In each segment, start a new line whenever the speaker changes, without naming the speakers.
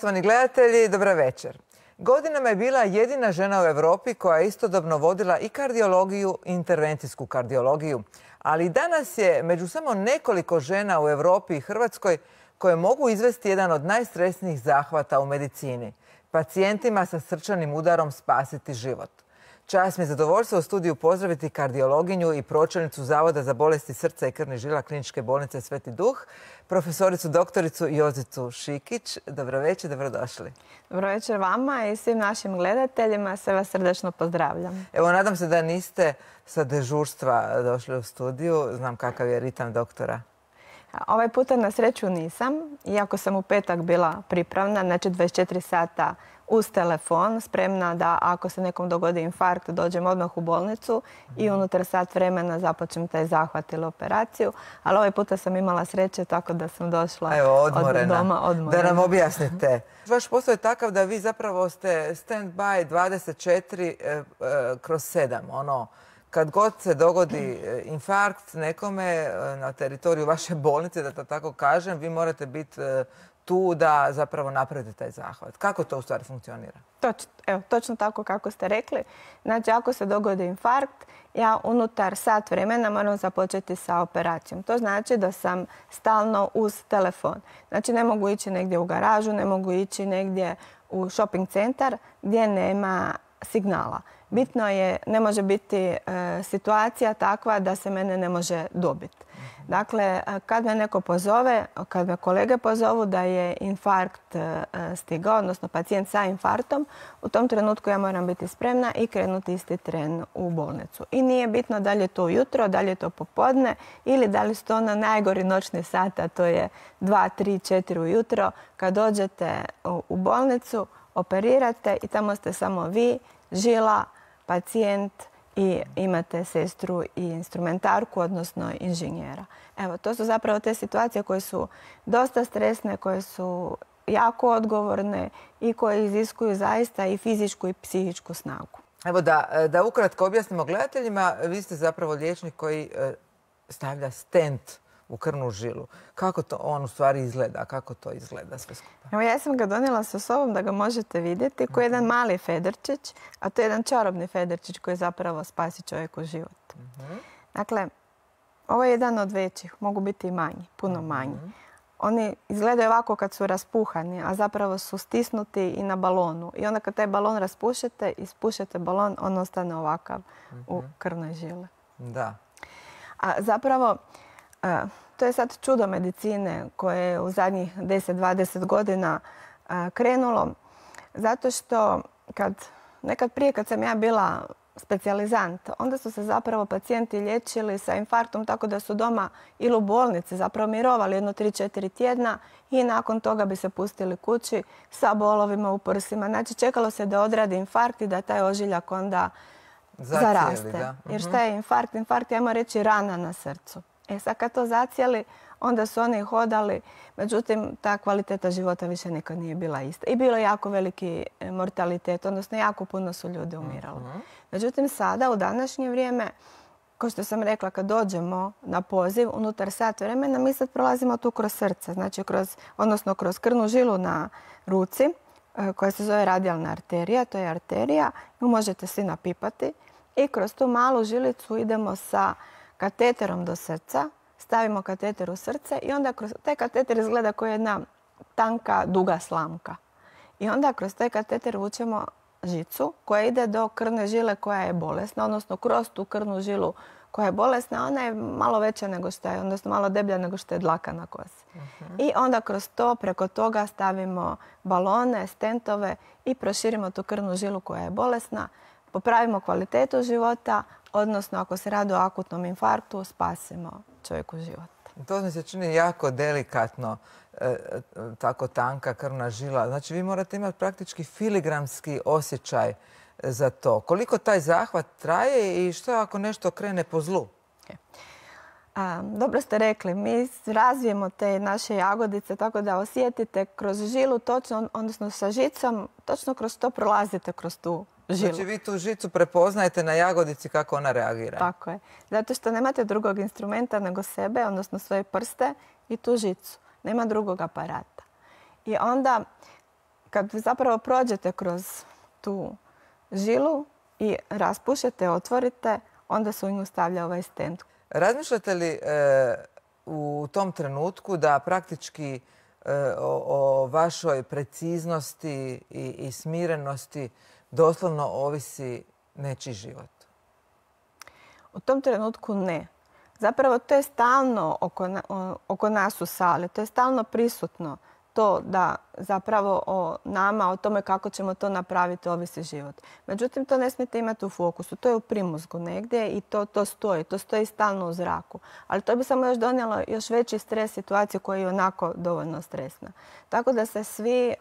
Poštovani gledatelji, dobra večer. Godinama je bila jedina žena u Europi koja je istodobno vodila i kardiologiju i intervencijsku kardiologiju. Ali danas je među samo nekoliko žena u Europi i Hrvatskoj koje mogu izvesti jedan od najstresnijih zahvata u medicini. Pacijentima sa srčanim udarom spasiti život. Čast mi je zadovoljstvo u studiju pozdraviti kardiologinju i pročelnicu Zavoda za bolesti srca i krvnih žila Kliničke bolnice Sveti Duh, profesoricu doktoricu Jozicu Šikić. Dobro večer, dobrodošli.
Dobro večer vama i svim našim gledateljima. Sve vas srdečno pozdravljam.
Evo, nadam se da niste sa dežurstva došli u studiju. Znam kakav je ritam doktora.
Ovaj puta na sreću nisam, iako sam u petak bila pripravna, znači 24 sata uz telefon, spremna da ako se nekom dogodi infarkt dođem odmah u bolnicu i unutar sat vremena započnem taj zahvat ili operaciju. Ali ovaj puta sam imala sreće tako da sam došla od doma odmorena.
Da nam objasnite. Vaš posao je takav da vi zapravo ste stand-by 24/7. Kad god se dogodi infarkt nekome na teritoriju vaše bolnice, da to tako kažem, vi morate biti tu da zapravo napravite taj zahvat. Kako to u stvari funkcionira?
Točno tako kako ste rekli. Znači, ako se dogodi infarkt, ja unutar sat vremena moram započeti sa operacijom. To znači da sam stalno uz telefon. Znači, ne mogu ići negdje u garažu, ne mogu ići negdje u shopping centar gdje nema signala. Bitno je, ne može biti situacija takva da se mene ne može dobiti. Dakle, kad me neko pozove, kad me kolege pozovu da je infarkt stigao, odnosno pacijent sa infarktom, u tom trenutku ja moram biti spremna i krenuti isti tren u bolnicu. I nije bitno da li je to ujutro, da li je to popodne ili da li su to na najgori noćni sat, a to je 2, 3, 4 ujutro. Kad dođete u bolnicu, operirate i tamo ste samo vi, žila, pacijent i imate sestru i instrumentarku, odnosno inženjera. Evo, to su zapravo te situacije koje su dosta stresne, koje su jako odgovorne i koje iziskuju zaista i fizičku i psihičku snagu.
Evo da ukratko objasnimo gledateljima, vi ste zapravo liječnik koji stavlja stent u krvnu žilu. Kako to on u stvari izgleda? Kako to izgleda sve skupa?
Evo, ja sam ga donijela sa sobom da ga možete vidjeti koji je jedan mali federčić, a to je jedan čarobni federčić koji zapravo spasi čovjeku život. Dakle, ovo je jedan od većih, mogu biti i manji, puno manji. Oni izgledaju ovako kad su raspuhani, a zapravo su stisnuti i na balonu. I onda kad taj balon raspušete, ispušete balon, on ostane ovakav u krvnoj žili.
Da.
A zapravo, to je sad čudo medicine koje je u zadnjih 10-20 godina krenulo. Zato što nekad prije kad sam ja bila specijalizant, onda su se zapravo pacijenti liječili sa infarktom tako da su doma ili u bolnici zapravo mirovali 1-3-4 tjedna i nakon toga bi se pustili kući sa bolovima u prsima. Znači, čekalo se da odradi infarkt i da taj ožiljak onda zaraste. Jer šta je infarkt? Infarkt je, ajmo reći, rana na srcu. Sad kad to zacijeli, onda su oni hodali. Međutim, ta kvaliteta života više nikad nije bila ista. I bilo je jako veliki mortalitet, odnosno jako puno su ljudi umirali. Međutim, sada, u današnje vrijeme, kao što sam rekla, kad dođemo na poziv, unutar sat vremena, mi sad prolazimo tu kroz srce, znači odnosno kroz krvnu žilu na ruci, koja se zove radijalna arterija, to je arterija, ju možete svi napipati i kroz tu malu žilicu idemo sa kateterom do srca, stavimo kateter u srce i onda kroz taj kateter izgleda kao jedna tanka, duga slamka. I onda kroz taj kateter vučemo žicu koja ide do krvne žile koja je bolesna, odnosno kroz tu krvnu žilu koja je bolesna, ona je malo veća nego što je, odnosno malo deblja nego što je dlaka na kosi. I onda kroz to, preko toga stavimo balone, stentove i proširimo tu krvnu žilu koja je bolesna, popravimo kvalitetu života, odnosno ako se radi o akutnom infarktu, spasimo čovjeku život.
To mi se čini jako delikatno, tako tanka krvna žila. Znači, vi morate imati praktički filigramski osjećaj za to. Koliko taj zahvat traje i što ako nešto krene po zlu?
Dobro ste rekli, mi razvijemo te naše jagodice tako da osjetite kroz žilu točno, odnosno sa žicom, točno kroz to prolazite kroz tu žilu.
Znači vi tu žicu prepoznajete na jagodici kako ona reagira.
Tako je. Zato što nemate drugog instrumenta nego sebe, odnosno svoje prste i tu žicu. Nema drugog aparata. I onda kad zapravo prođete kroz tu žilu i raspušete, otvorite, onda se u nju stavlja ovaj stent.
Razmišljate li u tom trenutku da praktički o vašoj preciznosti i smirenosti doslovno ovisi nečiji život?
U tom trenutku ne. Zapravo to je stalno oko nas u sali, to je stalno prisutno. To da zapravo o nama, o tome kako ćemo to napraviti, ovisi život. Međutim, to ne smijete imati u fokusu. To je u primozgu negdje i to stoji stalno u zraku. Ali to bi samo još donijelo još veći stres situaciju koja je onako dovoljno stresna. Tako da se svi,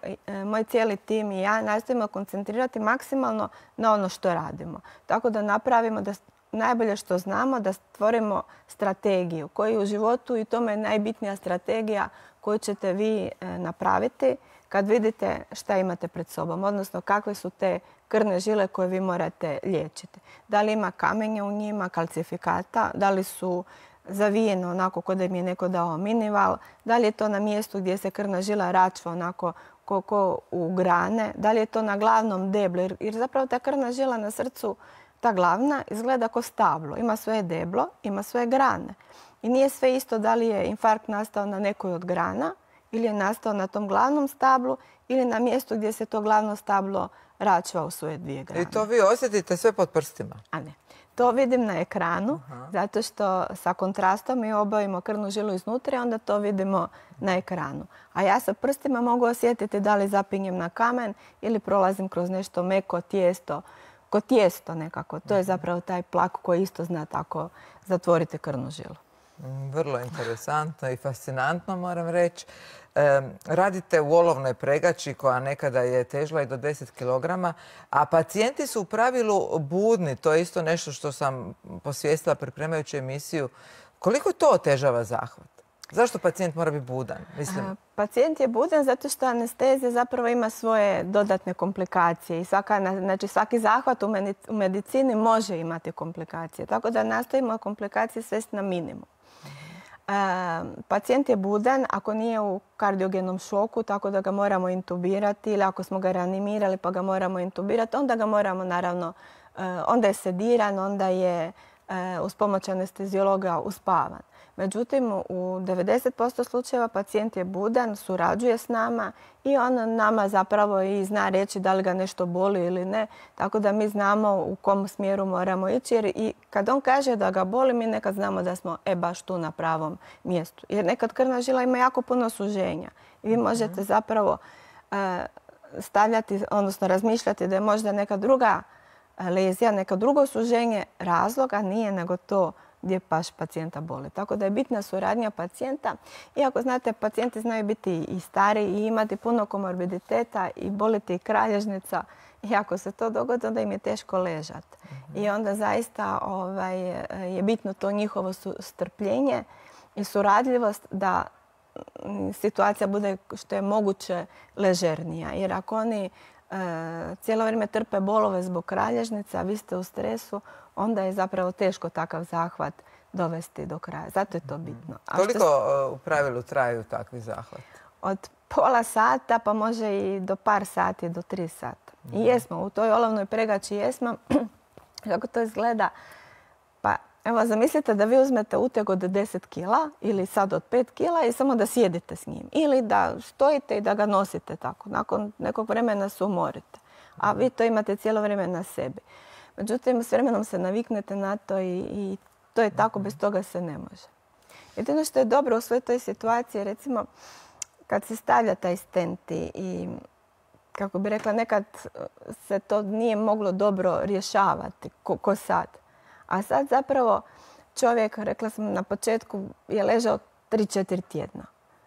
moj cijeli tim i ja, nastojimo koncentrirati maksimalno na ono što radimo. Tako da napravimo da najbolje što znamo, da stvorimo strategiju koju u životu, i tome je najbitnija strategija koju ćete vi napraviti kad vidite šta imate pred sobom, odnosno kakve su te krvne žile koje vi morate liječiti. Da li ima kamenja u njima, kalcifikata, da li su zavijeno onako kao da im je neko dao minival, da li je to na mjestu gdje se krvna žila račva onako ko u grane, da li je to na glavnom deblu, jer zapravo ta krvna žila na srcu, ta glavna, izgleda kao stablo. Ima svoje deblo, ima svoje grane. I nije sve isto da li je infarkt nastao na nekoj od grana ili je nastao na tom glavnom stablu ili na mjestu gdje se to glavno stablo račva u svoje dvije grane.
I to vi osjetite sve pod prstima?
A ne. To vidim na ekranu, zato što sa kontrastom mi obavimo krvnu žilu iznutra i onda to vidimo na ekranu. A ja sa prstima mogu osjetiti da li zapinjem na kamen ili prolazim kroz nešto meko tijesto, ko tijesto nekako. To je zapravo taj plak koji isto zna tako zatvoriti krvnu žilu.
Vrlo interesantno i fascinantno, moram reći. Radite u olovnoj pregači koja nekada je težila i do 10 kg, a pacijenti su u pravilu budni. To je isto nešto što sam posvijestila pripremajući emisiju. Koliko to otežava zahvat? Zašto pacijent mora biti budan?
Pacijent je budan zato što anestezija zapravo ima svoje dodatne komplikacije i svaki zahvat u medicini može imati komplikacije. Tako da nastojimo komplikacije svesti na minimum. Pacijent je budan ako nije u kardiogenom šoku, tako da ga moramo intubirati, ili ako smo ga reanimirali pa ga moramo intubirati, onda ga moramo naravno, onda je sediran, onda je uz pomoć anesteziologa uspavan. Međutim, u 90% slučajeva pacijent je budan, surađuje s nama i on nama zapravo i zna reći da li ga nešto boli ili ne. Tako da mi znamo u kom smjeru moramo ići. Jer i kad on kaže da ga boli, mi nekad znamo da smo baš tu na pravom mjestu. Jer nekad krvna žila ima jako puno suženja. I vi možete zapravo stavljati, odnosno razmišljati da je možda neka druga lezija, neka drugo suženje razlog, a nije nego to gdje baš pacijenta boli. Tako da je bitna suradnja pacijenta. Iako, znate, pacijenti znaju biti i stari i imati puno komorbiditeta i boliti i kralježnica. I ako se to dogodi, onda im je teško ležati. I onda zaista je bitno to njihovo strpljenje i suradljivost da situacija bude što je moguće ležernija. Jer ako oni cijelo vrijeme trpe bolove zbog kralježnica, a vi ste u stresu, onda je zapravo teško takav zahvat dovesti do kraja. Zato je to bitno.
Koliko u pravilu traju takvi zahvati?
Od pola sata pa može i do par sati, do 3 sata. I jesmo, u toj olovnoj pregači jesmo. Kako to izgleda? Pa evo, zamislite da vi uzmete uteg od 10 kila ili sad od 5 kila i samo da sjedite s njim. Ili da stojite i da ga nosite tako. Nakon nekog vremena se umorite. A vi to imate cijelo vrijeme na sebi. Međutim, s vremenom se naviknete na to i to je tako, bez toga se ne može. Jedino što je dobro u svoj toj situaciji, recimo, kad se stavlja taj stent i kako bi rekla, nekad se to nije moglo dobro rješavati, ko sad. A sad zapravo čovjek, rekla sam na početku, je ležao 3-4 tjedna.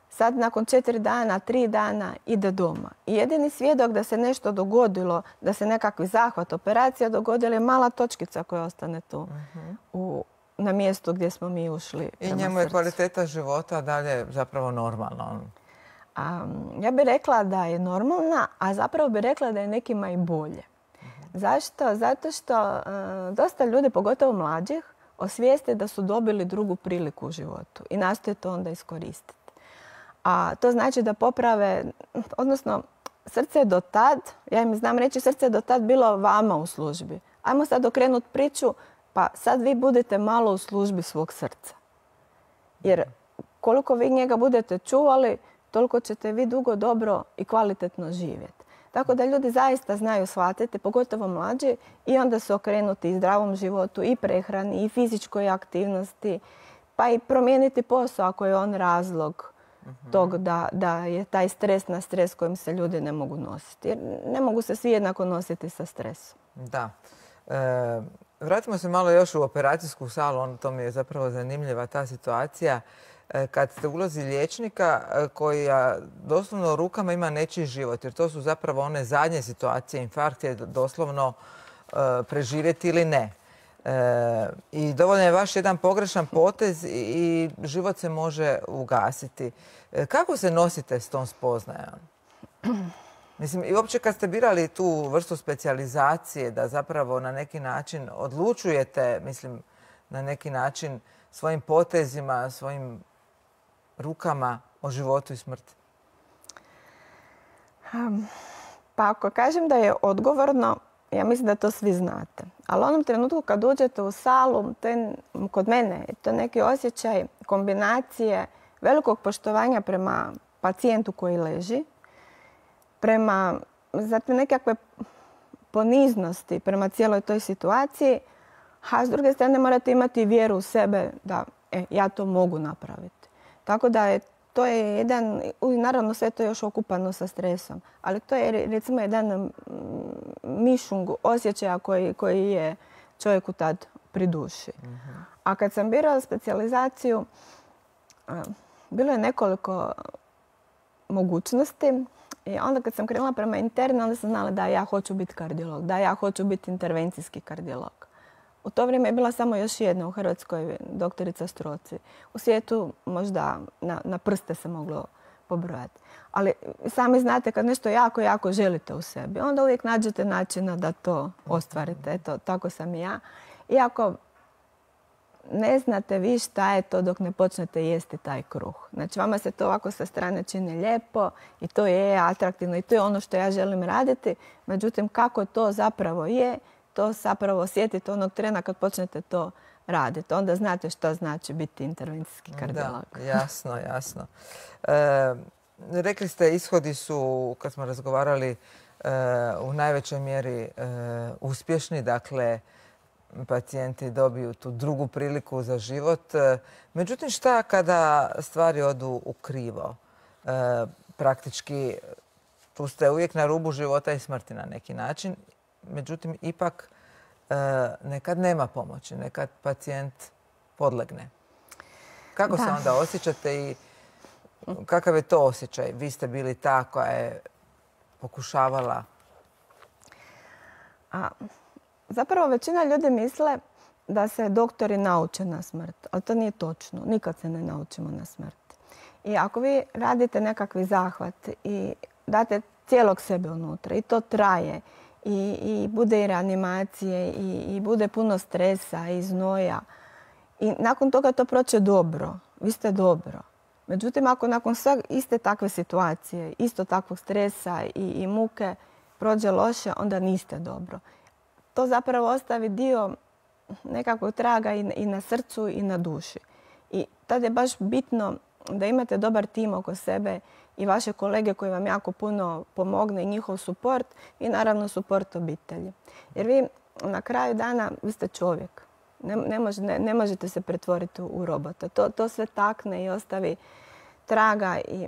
Sad nakon 4 dana, 3 dana ide doma. I jedini svjedok da se nešto dogodilo, da se nekakvi zahvat, operacija dogodila je mala točkica koja ostane tu na mjestu gdje smo mi ušli.
I njemu je kvaliteta života dalje zapravo normalna?
Ja bih rekla da je normalna, a zapravo bih rekla da je nekima i bolje. Zašto? Zato što dosta ljudi, pogotovo mlađih, osvijeste da su dobili drugu priliku u životu i nastoje to onda iskoristiti. A to znači da poprave, odnosno srce je do tad, ja im znam reći, srce je do tad bilo vama u službi. Ajmo sad okrenuti priču, pa sad vi budete malo u službi svog srca. Jer koliko vi njega budete čuvali, toliko ćete vi dugo, dobro i kvalitetno živjeti. Tako da ljudi zaista znaju shvatiti, pogotovo mlađi, i onda su okrenuti i zdravom životu, i prehrani, i fizičkoj aktivnosti, pa i promijeniti posao ako je on razlog tog da je taj stres na stres kojim se ljudi ne mogu nositi. Jer ne mogu se svi jednako nositi sa stresom.
Da. Vratimo se malo još u operacijsku salu, to mi je zapravo zanimljiva ta situacija. Kad ste u ulozi liječnika koja doslovno rukama ima nečiji život, jer to su zapravo one zadnje situacije, infarkt je doslovno preživjeti ili ne. I dovoljno je vaš jedan pogrešan potez i život se može ugasiti. Kako se nosite s tom spoznajom? Mislim, i uopće kad ste birali tu vrstu specijalizacije da zapravo na neki način odlučujete, mislim, na neki način svojim potezima, svojim rukama o životu i smrti?
Pa ako kažem da je odgovorno, ja mislim da to svi znate. Ali u onom trenutku kad uđete u salu, kod mene je to neki osjećaj kombinacije velikog poštovanja prema pacijentu koji leži, prema zatim nekakve poniznosti prema cijeloj toj situaciji, a s druge strane morate imati vjeru u sebe da ja to mogu napraviti. Tako da to je jedan, naravno sve to je još okupano sa stresom, ali to je recimo jedan mišung osjećaja koji je čovjeku tad pri duši. A kad sam birala specijalizaciju, bilo je nekoliko mogućnosti. I onda kad sam krenula prema interni, onda sam znala da ja hoću biti kardiolog, da ja hoću biti intervencijski kardiolog. U to vrijeme je bila samo još jedna u Hrvatskoj, doktorica Stroci. U svijetu možda na prste se moglo pobrojati. Ali sami znate kad nešto jako, jako želite u sebi, onda uvijek nađete načina da to ostvarite. Eto, tako sam i ja. Iako ne znate vi šta je to dok ne počnete jesti taj kruh. Znači, vama se to ovako sa strane čini lijepo i to je atraktivno i to je ono što ja želim raditi. Međutim, kako to zapravo je, to zapravo osjetite onog trena kad počnete to raditi. Onda znate što znači biti intervencijski kardiolog.
Da, jasno, jasno. Rekli ste, ishodi su, kad smo razgovarali, u najvećoj mjeri uspješni. Dakle, pacijenti dobiju tu drugu priliku za život. Međutim, šta kada stvari odu u krivo? Praktički, tu ste uvijek na rubu života i smrti na neki način. Međutim, ipak nekad nema pomoći, nekad pacijent podlegne. Kako se onda osjećate i kakav je to osjećaj? Vi ste bili ta koja je pokušavala.
Zapravo većina ljudi misle da se doktori nauče na smrt, ali to nije točno. Nikad se ne naučimo na smrt. I ako vi radite nekakvi zahvat i date cijelog sebe unutra i to traje i bude i reanimacije i bude puno stresa i znoja i nakon toga to proće dobro, vi ste dobro. Međutim, ako nakon sve iste takve situacije, isto takvog stresa i muke prođe loše, onda niste dobro. To zapravo ostavi dio nekakvog traga i na srcu i na duši. I tad je baš bitno da imate dobar tim oko sebe i vaše kolege koji vam jako puno pomogne i njihov suport i naravno suport obitelji. Jer vi na kraju dana, vi ste čovjek. Ne možete se pretvoriti u robota. To sve takne i ostavi traga i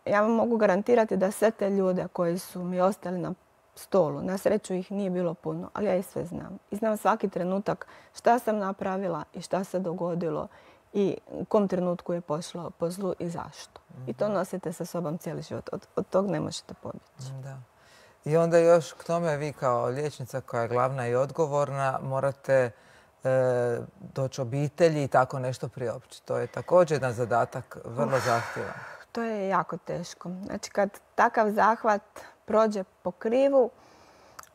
ja vam mogu garantirati da sve te ljude koji su mi ostali na stolu, na sreću ih nije bilo puno, ali ja ih sve znam. I znam svaki trenutak šta sam napravila i šta se dogodilo i u kom trenutku je pošlo po zlu i zašto. I to nosite sa sobom cijeli život. Od tog ne možete pobjeći.
Da. I onda još k tome vi kao liječnica koja je glavna i odgovorna morate doći obitelji i tako nešto priopćiti. To je također jedan zadatak vrlo zahtjevan.
To je jako teško. Znači kad takav zahvat prođe po krivu,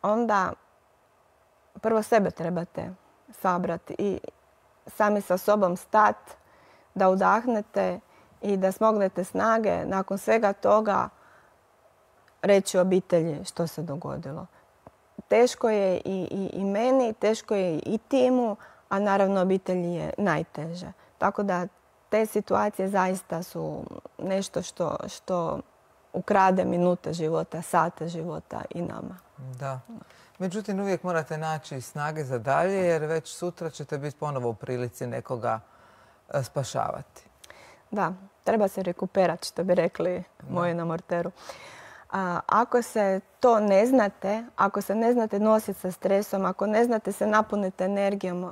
onda prvo sebe trebate sabrati i sami sa sobom stati, da udahnete i da smognete snage. Nakon svega toga reći obitelji što se dogodilo. Teško je i meni, teško je i timu, a naravno obitelji je najteže. Tako da te situacije zaista su nešto što ukrade minute života, sate života i nama.
Da. Međutim, uvijek morate naći snage za dalje jer već sutra ćete biti ponovo u prilici nekoga spašavati.
Da, treba se rekuperati, što bi rekli moji na morteru. Ako se to ne znate, ako se ne znate nositi sa stresom, ako ne znate se napuniti energijom,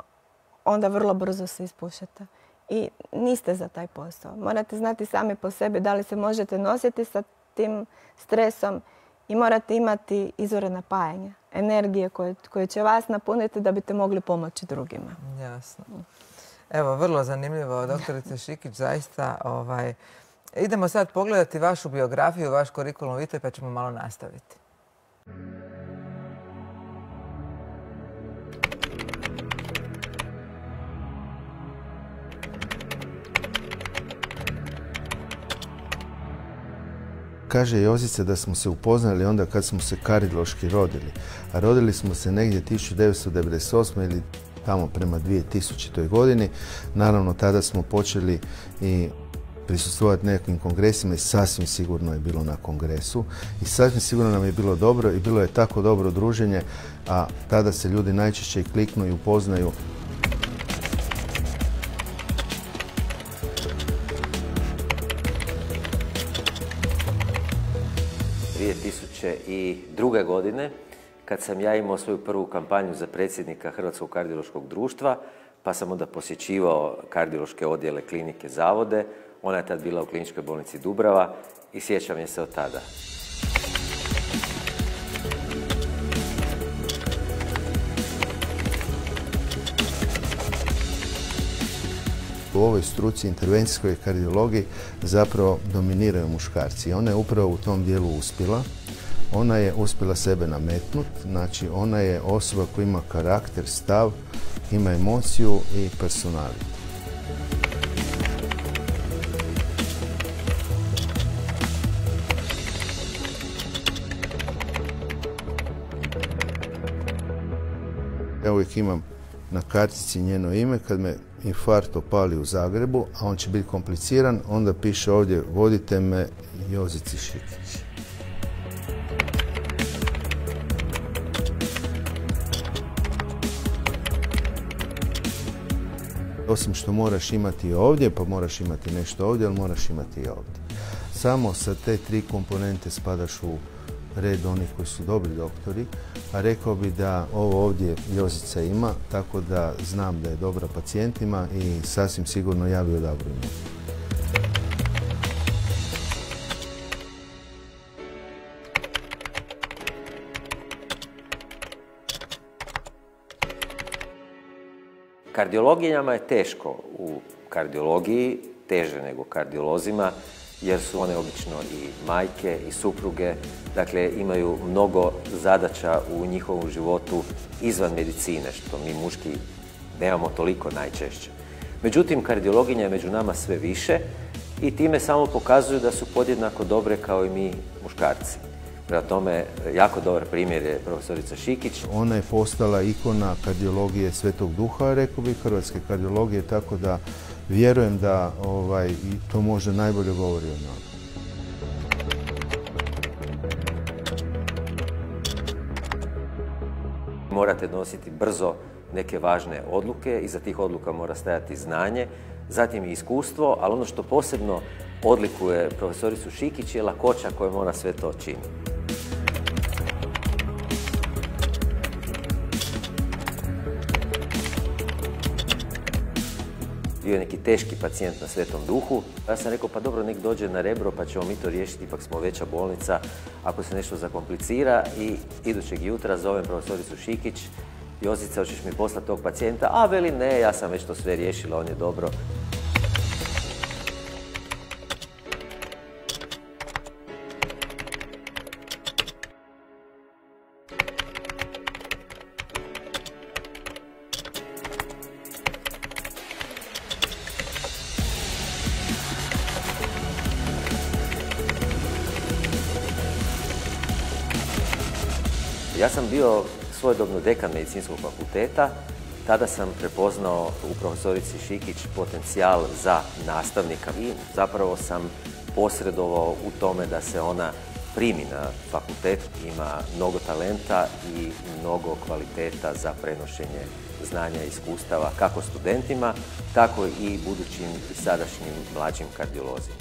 onda vrlo brzo se ispušete. I niste za taj posao. Morate znati sami po sebi da li se možete nositi sa tim stresom i morate imati izvore napajanja, energije koje će vas napuniti da biste mogli pomoći drugima.
Jasno. Evo, vrlo zanimljivo, doktorice Šikić, zaista. Idemo sad pogledati vašu biografiju, vaš kurikulum vitae, pa ćemo malo nastaviti.
Kaže Jozica da smo se upoznali onda kad smo se kardiološki rodili. A rodili smo se negdje 1998. ili tamo prema 2000. godini. Naravno, tada smo počeli i prisustvovati nekim kongresima i sasvim sigurno je bilo na kongresu. I sasvim sigurno nam je bilo dobro i bilo je tako dobro druženje, a tada se ljudi najčešće i kliknu i upoznaju.
I 2002. godine, kad sam ja imao svoju prvu kampanju za predsjednika Hrvatskog kardiološkog društva, pa sam onda posjećivao kardiološke odjele klinike Zavode. Ona je tad bila u Kliničkoj bolnici Dubrava i sjećam je se od tada.
U ovoj struci intervencijskoj kardiologiji zapravo dominiraju muškarci. Ona je upravo u tom dijelu uspjela. Ona je uspjela sebe nametnuti, znači ona je osoba koja ima karakter, stav, ima emociju i personalitet. Ja uvijek imam na kartici njeno ime, kad me infarkt opali u Zagrebu, a on će biti kompliciran, onda piše ovdje vodite me Jozici Šikić. Osim što moraš imati ovdje, pa moraš imati nešto ovdje, ali moraš imati i ovdje. Samo sa te tri komponente spadaš u red onih koji su dobri doktori, a rekao bi da ovo ovdje Jozica ima, tako da znam da je dobra pacijentima i sasvim sigurno ja bi odabrao nju.
Kardiologinjama je teško u kardiologiji, teže nego kardiolozima, jer su one obično i majke i supruge, dakle imaju mnogo zadaća u njihovom životu izvan medicine, što mi muški nemamo toliko najčešće. Međutim, kardiologinja je među nama sve više i time samo pokazuju da su podjednako dobre kao i mi muškarci. Prema tome, jako dobar primjer je profesorica Šikić.
Ona je postala ikona kardiologije Svetog Duha, rekao bih, hrvatske kardiologije, tako da vjerujem da i to možda najbolje govori o njoj.
Morate nositi brzo neke važne odluke, iza tih odluka mora stajati znanje, zatim i iskustvo, ali ono što posebno odlikuje profesoricu Šikić je lakoća kojom ona sve to čini. Bio je neki teški pacijent na Svetom Duhu. Ja sam rekao, pa dobro, nek dođe na Rebro pa ćemo mi to riješiti, ipak smo veća bolnica ako se nešto zakomplicira. I idućeg jutra zovem profesoricu Šikić, Jozica, hoćeš mi poslati tog pacijenta? A veli ne, ja sam već to sve riješila, on je dobro. Ja sam bio svojedobno dekan medicinskog fakulteta. Tada sam prepoznao u profesorici Šikić potencijal za nastavnika i zapravo sam posredovao u tome da se ona primi na fakultet. Ima mnogo talenta i mnogo kvaliteta za prenošenje znanja i iskustava kako studentima, tako i budućim i sadašnjim mlađim kardiolozima.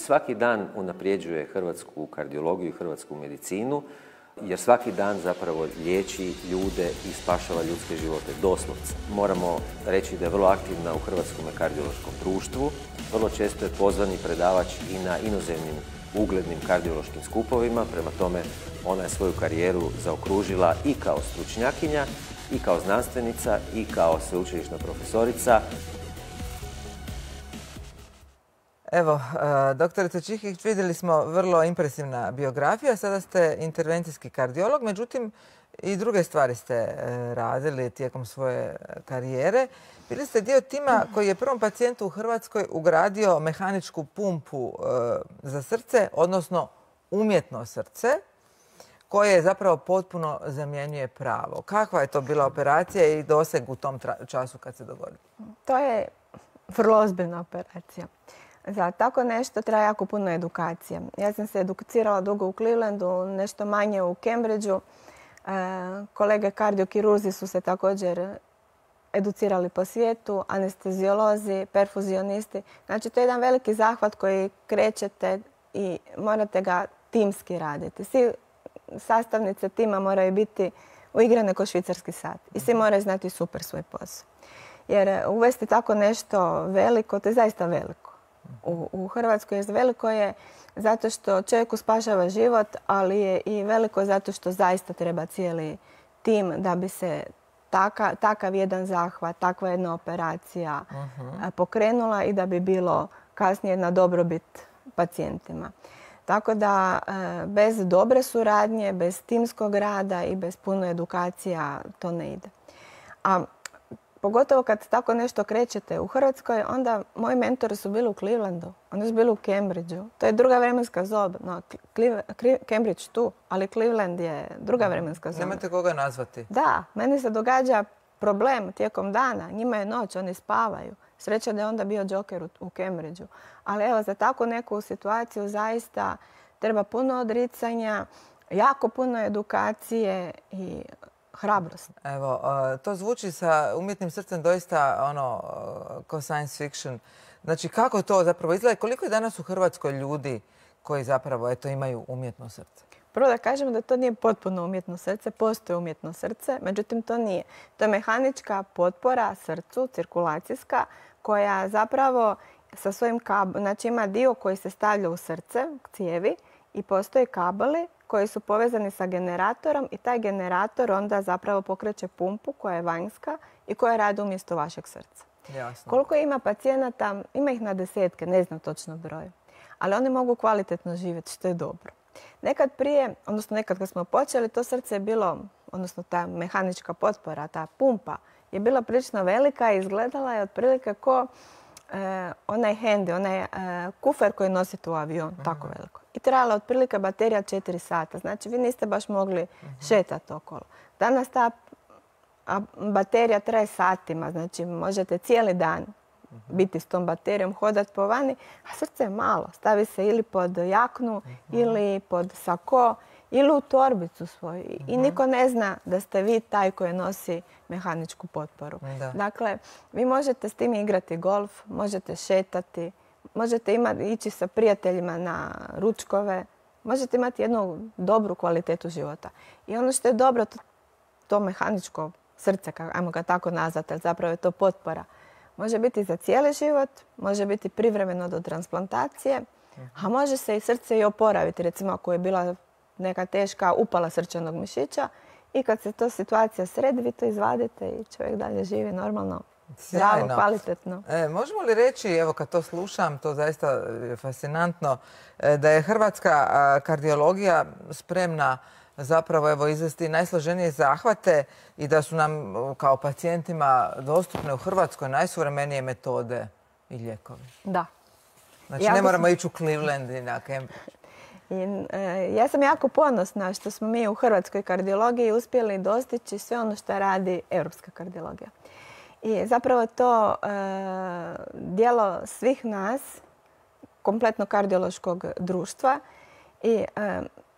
Svaki dan unapređuje hrvatsku kardiologiju i hrvatsku medicinu, jer svaki dan zapravo liječi ljude i spašava ljudske živote, doslovce. Moramo reći da je vrlo aktivna u Hrvatskom kardiološkom društvu. Vrlo često je pozvani predavač i na inozemnim uglednim kardiološkim skupovima. Prema tome, ona je svoju karijeru zaokružila i kao stručnjakinja, i kao znanstvenica, i kao sveučilišna profesorica.
Evo, doktorice Čihić, vidjeli smo vrlo impresivna biografija. Sada ste intervencijski kardiolog, međutim i druge stvari ste radili tijekom svoje karijere. Bili ste dio tima koji je prvom pacijentu u Hrvatskoj ugradio mehaničku pumpu za srce, odnosno umjetno srce, koje zapravo potpuno zamjenjuje pravo. Kakva je to bila operacija i doseg u tom času kad se dogodilo?
To je vrlo ozbiljna operacija. Za tako nešto treba jako puno edukacije. Ja sam se educirala dugo u Clevelandu, nešto manje u Cambridgeu. Kolege kardiokirurzi su se također educirali po svijetu, anesteziolozi, perfuzionisti. Znači, to je jedan veliki zahvat koji krećete i morate ga timski raditi. Svi sastavnice tima moraju biti uigrane kao švicarski sat i svi moraju znati super svoj posao. Jer uvesti tako nešto veliko, to je zaista veliko. U Hrvatskoj veliko je zato što čovjeku spašava život, ali je i veliko zato što zaista treba cijeli tim da bi se takav jedan zahvat, takva jedna operacija pokrenula i da bi bilo kasnije na dobrobit pacijentima. Tako da bez dobre suradnje, bez timskog rada i bez puno edukacija to ne ide. A pogotovo kad tako nešto krećete u Hrvatskoj, onda moji mentori su bili u Clevelandu, oni su bili u Cambridgeu. To je druga vremenska zona. No, Cambridge tu, ali Cleveland je druga vremenska zona.
Nemate koga nazvati.
Da, meni se događa problem tijekom dana. Njima je noć, oni spavaju. Sreća da je onda bio Joker u Cambridgeu. Ali evo, za takvu neku situaciju zaista treba puno odricanja, jako puno edukacije i hrabrost.
Evo, to zvuči sa umjetnim srcem doista kao science fiction. Znači, kako to zapravo izgleda? Koliko je danas u Hrvatskoj ljudi koji zapravo imaju umjetno srce?
Prvo da kažemo da to nije potpuno umjetno srce, postoji umjetno srce, međutim to nije. To je mehanička potpora srcu, cirkulacijska, koja zapravo sa svojim znači ima dio koji se stavlja u srce, cijevi, i postoje kabeli koji su povezani sa generatorom i taj generator onda zapravo pokreće pumpu koja je vanjska i koja radi umjesto vašeg srca.
Jasno.
Koliko ima pacijenata, ima ih na desetke, ne znam točno broj, ali oni mogu kvalitetno živjeti, što je dobro. Nekad prije, odnosno nekad kad smo počeli, to srce je bilo, odnosno ta mehanička potpora, ta pumpa je bila prilično velika i izgledala je otprilike ko onaj handy, onaj kufer koji nosite u avion, tako veliko. I trajala otprilike baterija 4 sata. Znači, vi niste baš mogli šetati okolo. Danas ta baterija traje satima. Znači, možete cijeli dan biti s tom baterijom, hodati po vani, a srce je malo. Stavi se ili pod jaknu, ili pod sako, ili u torbicu svoju. I niko ne zna da ste vi taj koji nosi mehaničku potporu. Dakle, vi možete s tim igrati golf, možete šetati, možete ići sa prijateljima na ručkove, možete imati jednu dobru kvalitetu života. I ono što je dobro, to mehaničko srce, ajmo ga tako nazvati, ali zapravo je to potpora. Može biti za cijeli život, može biti privremeno do transplantacije, a može se i srce i oporaviti. Recimo ako je bila neka teška upala srčanog mišića i kad se to situacija sredi, vi to izvadite i čovjek dalje živi normalno zdravo, kvalitetno.
Možemo li reći, evo kad to slušam, to zaista je fascinantno, da je hrvatska kardiologija spremna zapravo evo izvesti najsloženije zahvate i da su nam kao pacijentima dostupne u Hrvatskoj najsuvremenije metode i lijekovi?
Da.
Znači ne moramo ići u Cleveland i na Cambridge.
Ja sam jako ponosna što smo mi u hrvatskoj kardiologiji uspjeli dostići sve ono što radi europska kardiologija. I zapravo to djelo svih nas, kompletno kardiološkog društva, i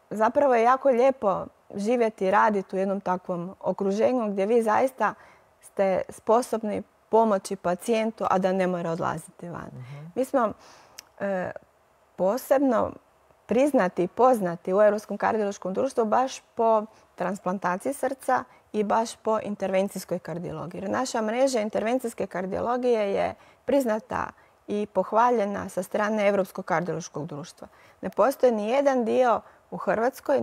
zapravo je jako lijepo živjeti i raditi u jednom takvom okruženju gdje vi zaista ste sposobni pomoći pacijentu, a da ne mora odlaziti van. Mi smo posebno priznati i poznati u Europskom kardiološkom društvu baš po transplantaciji srca i baš po intervencijskoj kardiologiji. Jer naša mreža intervencijske kardiologije je priznata i pohvaljena sa strane Europskog kardiološkog društva. Ne postoji ni jedan dio u Hrvatskoj,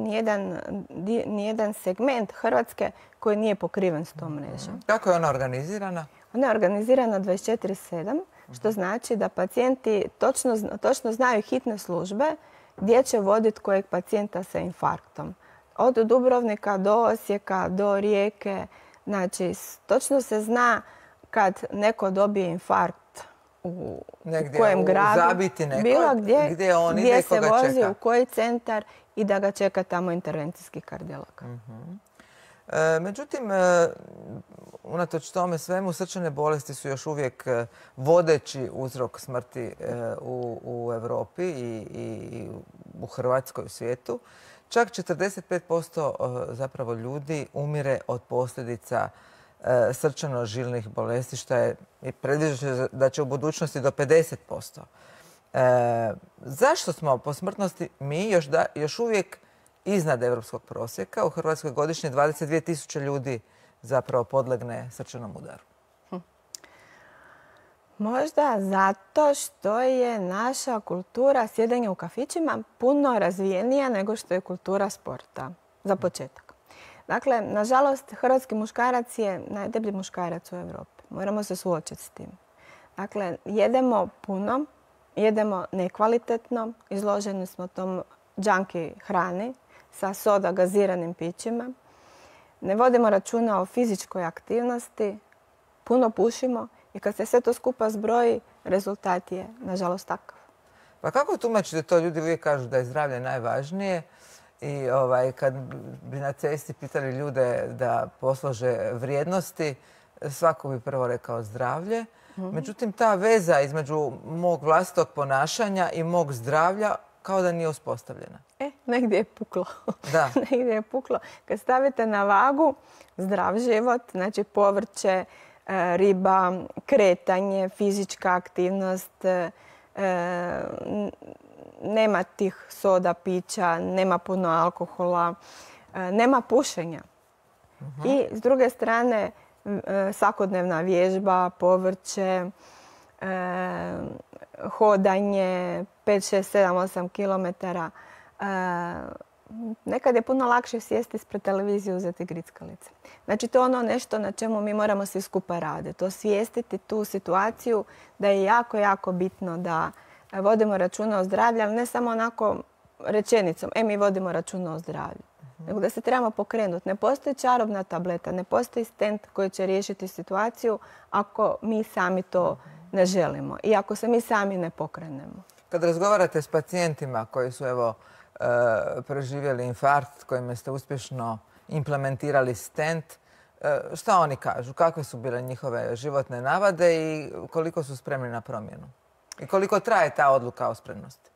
ni jedan segment Hrvatske koji nije pokriven s tom mrežom.
Kako je ona organizirana?
Ona je organizirana 24/7, što znači da pacijenti točno znaju hitne službe gdje će voditi kojeg pacijenta sa infarktom. Od Dubrovnika do Osijeka, do Rijeke. Znači, točno se zna kad neko dobije infarkt u kojem gradu.
Zabiti neko,
bilo
gdje on ide i koga
se vozi,
čeka.
u koji centar i da ga čeka tamo intervencijski kardiolog.
Međutim, unatoč tome svemu, srčane bolesti su još uvijek vodeći uzrok smrti u Europi i u Hrvatskoj, u svijetu. Čak 45% zapravo ljudi umire od posljedica srčano-žilnih bolesti, što je predviđeno da će u budućnosti do 50%. Zašto smo po smrtnosti mi još uvijek iznad europskog prosjeka? U Hrvatskoj godišnje 22.000 ljudi zapravo podlegne srčanom udaru.
Možda zato što je naša kultura sjedenja u kafićima puno razvijenija nego što je kultura sporta, za početak. Dakle, nažalost, hrvatski muškarac je najdeblji muškarac u Europi. Moramo se suočiti s tim. Dakle, jedemo puno, jedemo nekvalitetno, izloženi smo tom junkie hrani sa soda gaziranim pićima. Ne vodimo računa o fizičkoj aktivnosti, puno pušimo i kad se sve to skupa zbroji, rezultat je, nažalost, takav.
Pa kako tumačite to? Ljudi uvijek kažu da je zdravlje najvažnije i kad bi na cesti pitali ljude da poslože vrijednosti, svako bi prvo rekao zdravlje. Međutim, ta veza između mog vlastitog ponašanja i mog zdravlja kao da nije uspostavljena.
Negdje je puklo.
Da.
Negdje je puklo. Kad stavite na vagu zdrav život, znači povrće, riba, kretanje, fizička aktivnost, nema tih soda, pića, nema puno alkohola, nema pušenja. I s druge strane svakodnevna vježba, povrće, hodanje 5, 6, 7, 8 kilometara. Nekad je puno lakše sjesti ispred televizije i uzeti grickalice. Znači, to je ono nešto na čemu mi moramo svi skupa raditi. Osvijestiti tu situaciju da je jako, jako bitno da vodimo računa o zdravlju, ali ne samo onako rečenicom, mi vodimo računa o zdravlju. Nego da se trebamo pokrenuti. Ne postoji čarobna tableta, ne postoji stent koji će riješiti situaciju ako mi sami to ne želimo i ako se mi sami ne pokrenemo.
Kad razgovarate s pacijentima koji su preživjeli infarkt, kojima ste uspješno implementirali stent, šta oni kažu? Kakve su bile njihove životne navade i koliko su spremni na promjenu? I koliko traje ta odluka o spremnosti?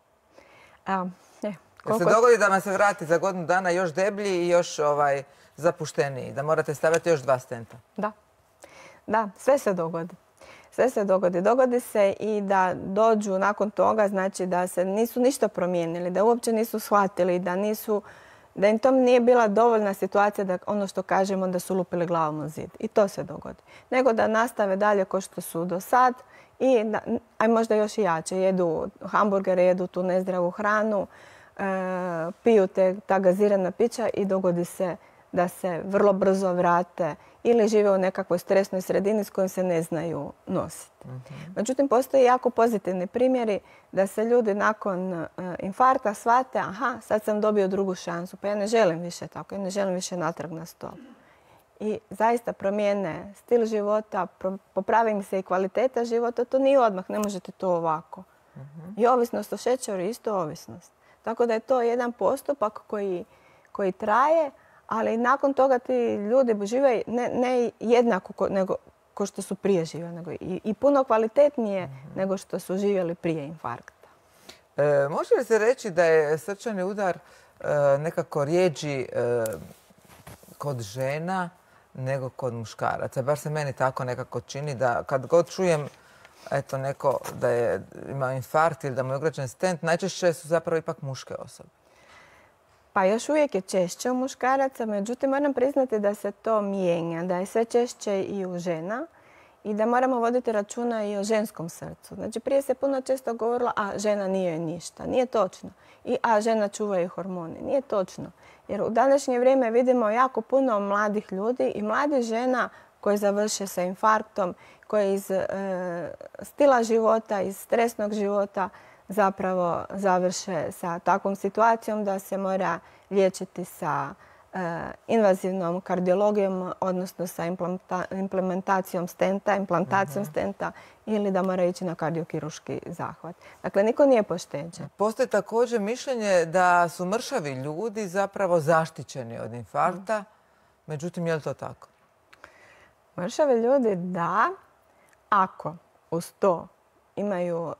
Jer se dogodi da vam se vrati za godinu dana još deblji i još zapušteniji, da morate staviti još 2 stenta.
Da, sve se dogodi. Sve se dogodi. Dogodi se i da dođu nakon toga, znači da se nisu ništa promijenili, da uopće nisu shvatili, da im to nije bila dovoljna situacija da ono što kažemo da su lupili glavom u zid. I to se dogodi. Nego da nastave dalje kao što su do sad i možda još i jače. Jedu hamburgere, jedu tu nezdravu hranu, piju ta gazirana pića i dogodi se da se vrlo brzo vrate ili žive u nekakvoj stresnoj sredini s kojom se ne znaju nositi. Međutim, postoje jako pozitivni primjeri da se ljudi nakon infarkta shvate, aha, sad sam dobio drugu šansu, pa ja ne želim više tako, ja ne želim više natrag na stol. I zaista promijene stil života, popravi im se i kvaliteta života, to nije odmah, ne možete to ovako. I ovisnost o šećeru je isto ovisnost. Tako da je to jedan postupak koji traje, ali nakon toga ti ljudi žive ne jednako nego ko što su prije živjeli, nego i puno kvalitetnije nego što su živjeli prije infarkta.
Može li se reći da je srčani udar nekako rjeđi kod žena nego kod muškaraca? Bar se meni tako nekako čini da kad god čujem neko da je imao infarkt ili da mu je ugrađen stent, najčešće su zapravo ipak muške osobe.
Pa još uvijek je češće u muškaraca, međutim moram priznati da se to mijenja, da je sve češće i u žena i da moramo voditi računa i o ženskom srcu. Znači prije se puno često govorilo, a žena nije ništa. Nije točno. A žena čuvaju hormoni. Nije točno. Jer u današnje vrijeme vidimo jako puno mladih ljudi i mladih žena koji završe sa infarktom, koji iz stila života, iz stresnog života zapravo završe sa takvom situacijom da se mora liječiti sa invazivnom kardiologijom, odnosno sa implementacijom stenta ili da mora ići na kardiokirurški zahvat. Dakle, niko nije pošteđen.
Postoji također mišljenje da su mršavi ljudi zapravo zaštićeni od infarkta. Međutim, je li to tako?
Mršavi ljudi da, ako uz to imaju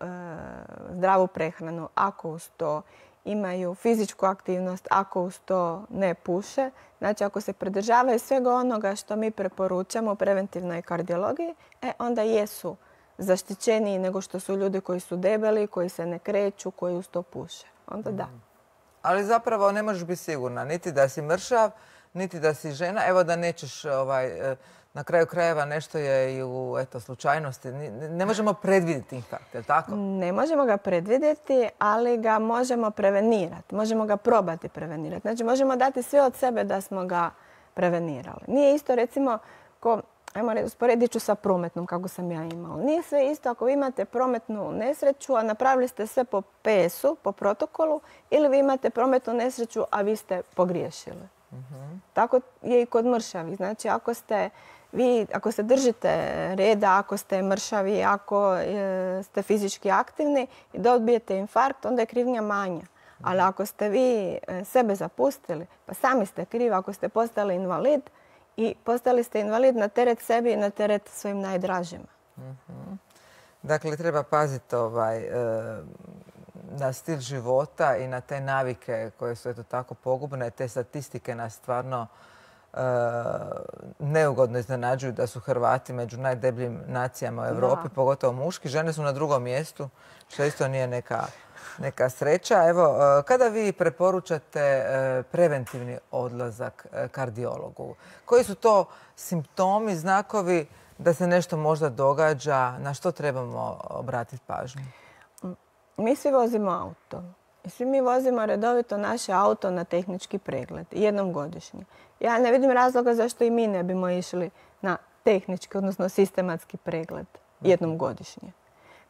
zdravu prehranu, ako uz to imaju fizičku aktivnost, ako uz to ne puše. Znači, ako se pridržavaju svega onoga što mi preporučamo u preventivnoj kardiologiji, onda jesu zaštićeniji nego što su ljudi koji su debeli, koji se ne kreću, koji uz to puše. Onda da.
Ali zapravo ne možeš biti sigurna niti da si mršav, niti da si žena. Evo da nećeš, na kraju krajeva nešto je i u slučajnosti. Ne možemo predvidjeti infarkt, je li tako?
Ne možemo ga predvidjeti, ali ga možemo prevenirati. Možemo ga probati prevenirati. Znači, možemo dati sve od sebe da smo ga prevenirali. Nije isto, recimo, usporedit ću sa prometnom kako sam ja imala. Nije sve isto ako vi imate prometnu nesreću, a napravili ste sve po PS-u, po protokolu, ili vi imate prometnu nesreću, a vi ste pogriješili. Tako je i kod mršavih. Znači, ako se držite reda, ako ste mršavi, ako ste fizički aktivni i dobijete infarkt, onda je krivnja manja. Ali ako ste vi sebe zapustili, pa sami ste krivi ako ste postali invalid i postali ste invalid na teret sebi i na teret svojim najdražima.
Dakle, treba paziti na stil života i na te navike koje su tako pogubne. Te statistike nas stvarno neugodno iznenađuju da su Hrvati među najdebljim nacijama u Europi, pogotovo muški. Žene su na drugom mjestu, što isto nije neka sreća. Evo, kada vi preporučate preventivni odlazak kardiologu? Koji su to simptomi, znakovi da se nešto možda događa? Na što trebamo obratiti pažnju?
Mi svi vozimo auto. I svi mi vozimo redovito naše auto na tehnički pregled, jednom godišnje. Ja ne vidim razloga zašto i mi ne bimo išli na tehnički, odnosno sistematski pregled jednom godišnje.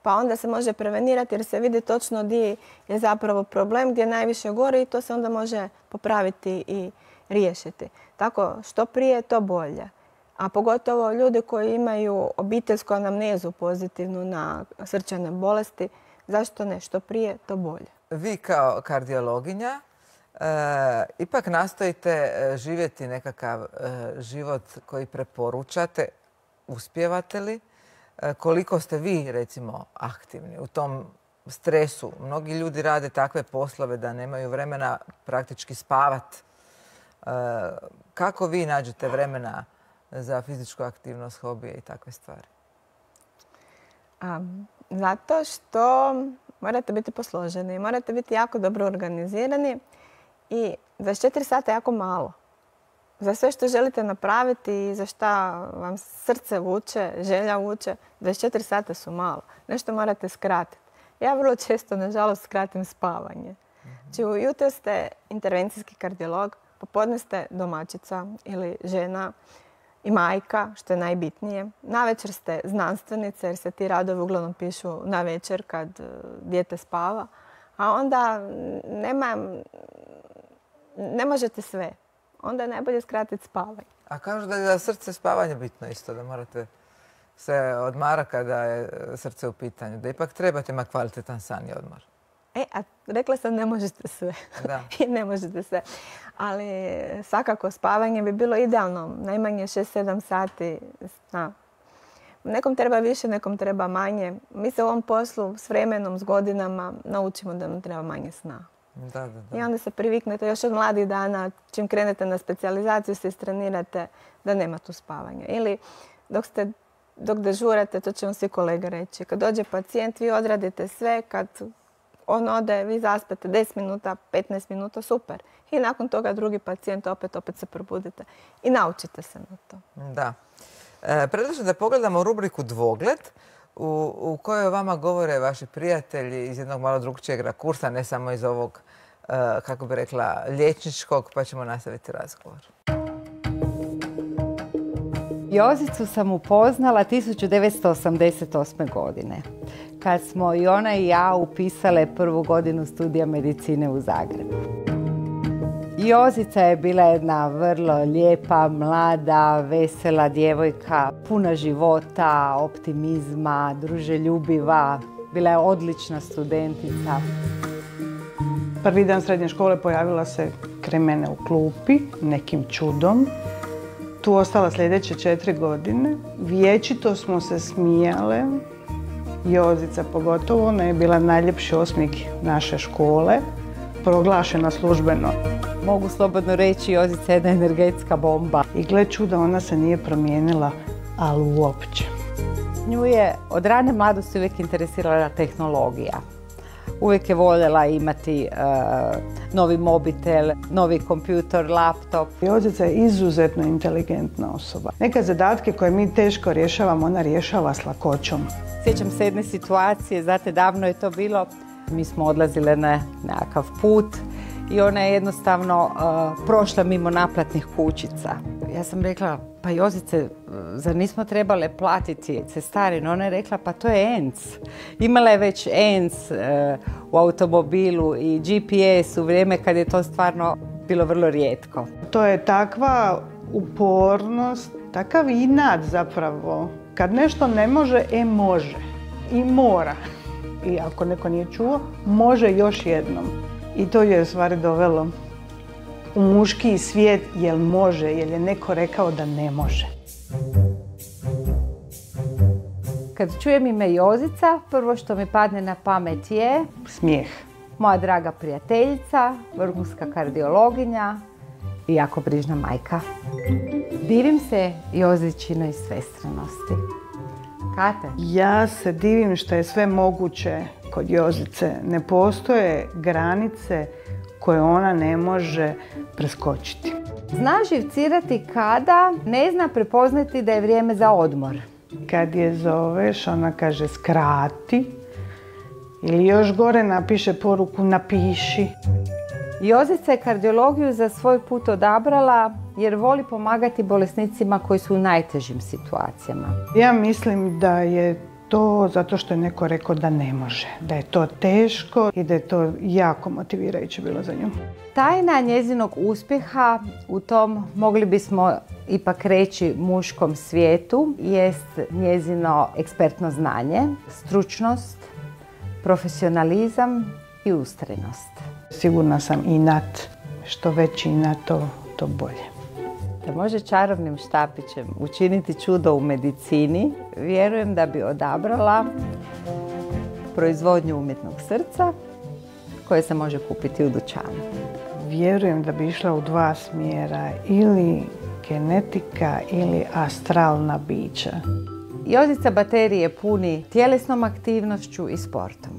Pa onda se može prevenirati jer se vidi točno gdje je zapravo problem, gdje najviše gori i to se onda može popraviti i riješiti. Tako što prije, to bolje. A pogotovo ljudi koji imaju obiteljsku anamnezu pozitivnu na srčane bolesti, zašto ne? Što prije, to bolje.
Vi kao kardiologinja ipak nastojite živjeti nekakav život koji preporučate. Uspijevate li? Koliko ste vi, recimo, aktivni u tom stresu? Mnogi ljudi rade takve poslove da nemaju vremena praktički spavati. Kako vi nađete vremena za fizičku aktivnost, hobije i takve stvari?
Zato što morate biti posloženi, morate biti jako dobro organizirani i 24 sata je jako malo. Za sve što želite napraviti i za što vam srce vuče, želja vuče, 24 sata su malo. Nešto morate skratiti. Ja vrlo često, nažalost, skratim spavanje. Znači, ujutro ste intervencijski kardiolog, popodne ste domaćica ili žena i majka, što je najbitnije. Navečer ste znanstvenica jer se ti radovi uglavnom pišu navečer kad dijete spava. A onda ne možete sve. Onda je najbolje skratiti spavanje.
A kažu da je za srce spavanje bitno isto, da morate se odmara kada je srce u pitanju, da ipak trebate imati kvalitetan san i odmor.
A rekla sam ne možete sve.
Da.
I ne možete sve. Ali svakako spavanje bi bilo idealno. Najmanje 6-7 sati sna. Nekom treba više, nekom treba manje. Mi se u ovom poslu s vremenom, s godinama naučimo da nam treba manje sna.
Da.
I onda se priviknete još od mladih dana, čim krenete na specijalizaciju se istrenirate da nema tu spavanja. Ili dok dežurate, to će vam svi kolege reći. Kad dođe pacijent, vi odradite sve, kad on ode, vi zaspete 10 minuta, 15 minuta, super. I nakon toga drugi pacijent opet se probudite. I naučite se na to.
Da. Predlažem da pogledamo rubriku Dvogled, u kojoj vama govore vaši prijatelji iz jednog malo drugčijeg rakursa, ne samo iz ovog, kako bi rekla, liječničkog, pa ćemo nastaviti razgovor.
Jozicu sam upoznala 1988. godine, kad smo i ona i ja upisale prvu godinu studija medicine u Zagrebu. Jozica je bila jedna vrlo lijepa, mlada, vesela djevojka, puna života, optimizma, druželjubiva. Bila je odlična studentica.
Prvi dan srednje škole pojavila se kraj mene u klupi, nekim čudom. Tu ostala sljedeće 4 godine. Vječito smo se smijale. Jozica pogotovo, ona je bila najljepši osmijeh naše škole, proglašena službeno.
Mogu slobodno reći, Jozica je jedna energetska bomba.
I gle čuda, ona se nije promijenila, ali uopće.
Nju je od rane mladosti uvijek interesirala tehnologija. Uvijek je voljela imati novi mobitel, novi kompjutor, laptop.
Jozica je izuzetno inteligentna osoba. Neke zadatke koje mi teško rješavamo, ona rješava s lakoćom.
Sjećam se jedne situacije, znate, davno je to bilo. Mi smo odlazile na nekakav put i ona je jednostavno prošla mimo naplatnih kućica. Ja sam rekla, pa Jozice, zar nismo trebale platiti cestarinu? Ona je rekla, pa to je ENC. Imala je već ENC u automobilu i GPS u vrijeme kad je to stvarno bilo vrlo rijetko.
To je takva upornost, takav inat zapravo. Kad nešto ne može, može i mora. I ako neko nije čuo, može još jednom. I to je u stvari dovelo u muški svijet, jel može, jer je neko rekao da ne može.
Kad čujem ime Jozica, prvo što mi padne na pamet je
smijeh.
Moja draga prijateljica, vrhunska kardiologinja i jako brižna majka. Divim se Jozičinoj svestranosti. Kate?
Ja se divim što je sve moguće kod Jozice. Ne postoje granice koje ona ne može preskočiti.
Zna živcirati kada ne zna prepoznati da je vrijeme za odmor.
Kad je zoveš, ona kaže skrati. Ili još gore napiše poruku napiši.
Jozica je kardiologiju za svoj put odabrala jer voli pomagati bolesnicima koji su u najtežim situacijama.
Ja mislim da je to zato što je neko rekao da ne može, da je to teško i da je to jako motivirajuće bilo za nju.
Tajna njezinog uspjeha u tom, mogli bismo ipak reći, muškom svijetu jest njezino ekspertno znanje, stručnost, profesionalizam i ustrajnost.
Sigurna sam inat, što veći inat, to bolje.
Da može čarobnim štapićem učiniti čudo u medicini, vjerujem da bi odabrala proizvodnju umjetnog srca koje se može kupiti u dućanu.
Vjerujem da bi išla u 2 smjera, ili genetika ili astralna bića.
Jozica baterije puni tjelesnom aktivnošću i sportom.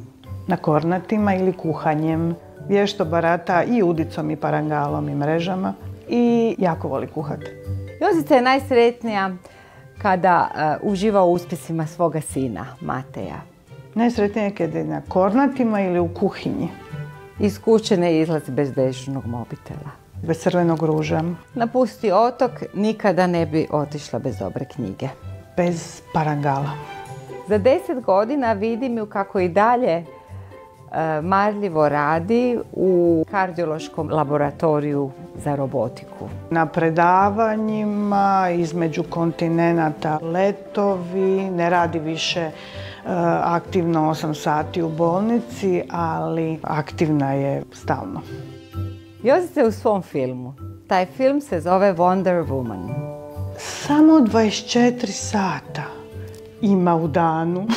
Na kornatima ili kuhanjem. Vješto barata i udicom i parangalom i mrežama i jako voli kuhati.
Jozica je najsretnija kada uživa u uspjesima svoga sina, Mateja.
Najsretnija je kada je na kornatima ili u kuhinji.
Iz kuće ne izlazi bez dežurnog mobitela.
Bez crvenog ruža.
Napusti otok, nikada ne bi otišla bez dobre knjige.
Bez parangala.
Za 10 godina vidim ju kako i dalje marljivo radi u kardiološkom laboratoriju za robotiku.
Na predavanjima, između kontinenata letovi, ne radi više aktivno 8 sati u bolnici, ali aktivna je stalno.
Jozica je u svom filmu. Taj film se zove Wonder Woman.
Samo 24 sata ima u danu.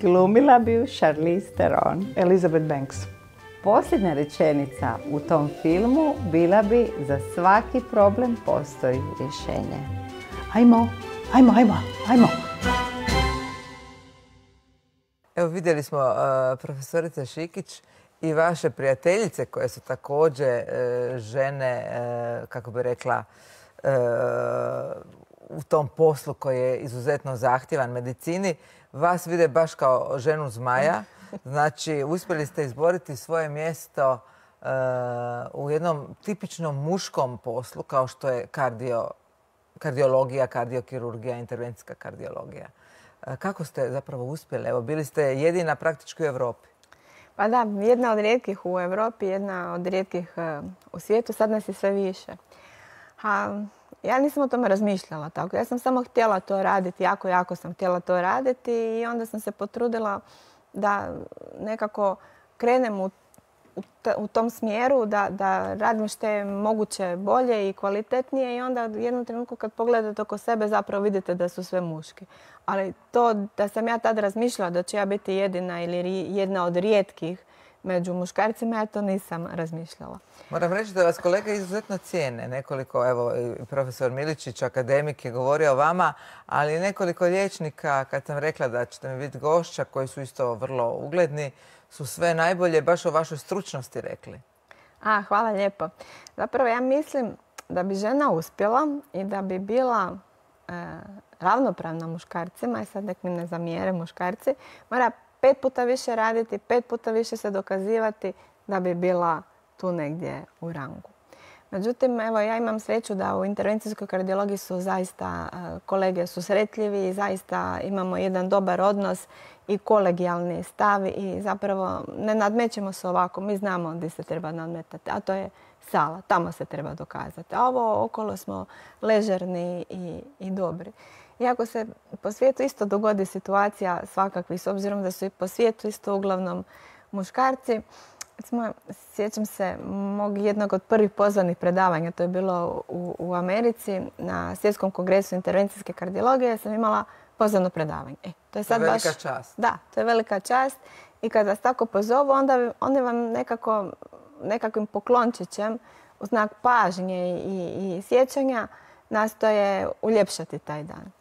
Glumila bi ju Charlize Theron.
Elizabeth Banks.
Posljednja rečenica u tom filmu bila bi: za svaki problem postoji rješenje.
Ajmo.
Evo vidjeli smo profesorice Šikić i vaše prijateljice koje su također žene, kako bi rekla, u tom poslu koji je izuzetno zahtjevan medicini. Vas vide baš kao ženu zmaja. Znači, uspjeli ste izboriti svoje mjesto u jednom tipičnom muškom poslu kao što je kardiologija, kardiokirurgija, intervencijska kardiologija. Kako ste zapravo uspjeli? Evo, bili ste jedina praktički u Europi.
Pa da, jedna od rijetkih u Europi, jedna od rijetkih u svijetu, sad nas je sve više. Ja nisam o tome razmišljala tako. Ja sam samo htjela to raditi, jako sam htjela to raditi i onda sam se potrudila da nekako krenem u tom smjeru, da radim što je moguće bolje i kvalitetnije i onda u jednom trenutku kad pogledate oko sebe zapravo vidite da su sve muški. Ali to da sam ja tad razmišljala da ću ja biti jedina ili jedna od rijetkih među muškarcima, ja to nisam razmišljala.
Moram reći da vas kolege izuzetno cijene. Nekoliko, evo, profesor Miličić, akademik, je govorio o vama, ali nekoliko liječnika, kad sam rekla da ćete mi biti gošća, koji su isto vrlo ugledni, su sve najbolje baš o vašoj stručnosti rekli.
Hvala lijepo. Zapravo ja mislim da bi žena uspjela i da bi bila ravnopravna muškarcima, i sad nek mi ne zamijere muškarci, mora 5 puta više raditi, 5 puta više se dokazivati da bi bila tu negdje u rangu. Međutim, evo, ja imam sreću da u intervencijskoj kardiologiji su zaista kolege susretljivi i zaista imamo jedan dobar odnos i kolegijalni stav i zapravo ne nadmećemo se ovako. Mi znamo gdje se treba nadmetati, a to je sala. Tamo se treba dokazati. A ovo okolo smo ležerni i dobri. Iako se po svijetu isto dogodi situacija svakakvi, s obzirom da su i po svijetu isto uglavnom muškarci. Sjećam se mog jednog od prvih pozvanih predavanja, to je bilo u Americi, na Svjetskom kongresu intervencijske kardiologije, sam imala pozvano predavanje. To je sad
velika čast.
Da, to je velika čast i kad vas tako pozovu, onda vam nekakvim poklončićem u znak pažnje i sjećanja nastoje uljepšati taj dan.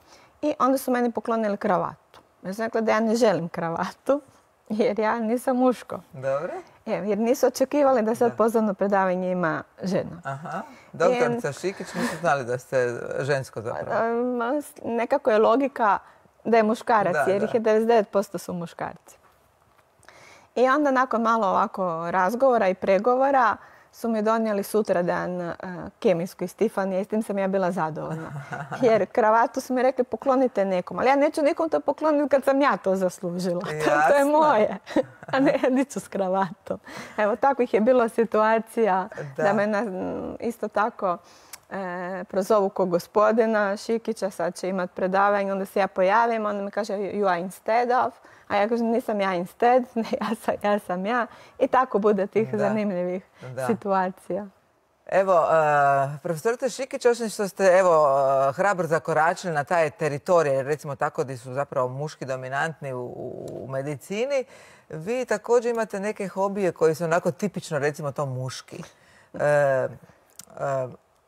I onda su meni poklonili kravatu. Ja sam rekla da ja ne želim kravatu, jer ja nisam muško.
Dobro.
Jer nisu očekivali da sad pozvano predavanje ima žena.
Aha. Doktorica Šikić, nisu znali da ste žensko zapravo.
Nekako je logika da je muškarac, jer ih je 99% su muškarci. I onda nakon malo ovako razgovora i pregovora su mi donijeli sutradan kemijsku iz Tifanija i s tim sam ja bila zadovoljna. Jer kravatu su mi rekli poklonite nekom, ali ja neću nikom to pokloniti kad sam ja to zaslužila. To je moje, a ne niću s kravatom. Evo, takvih je bilo situacija da me isto tako prozovu ko gospodina Šikića, sad će imati predavanje, onda se ja pojavim, onda mi kaže you are instead of, a ja kažem nisam ja instead, ne, ja sam ja. I tako bude tih zanimljivih situacija.
Evo, profesorice Šikić, osim što ste hrabro zakoračili na taj teritorij, recimo tako, gdje su zapravo muški dominantni u medicini, vi također imate neke hobije koji su onako tipično, recimo to muški.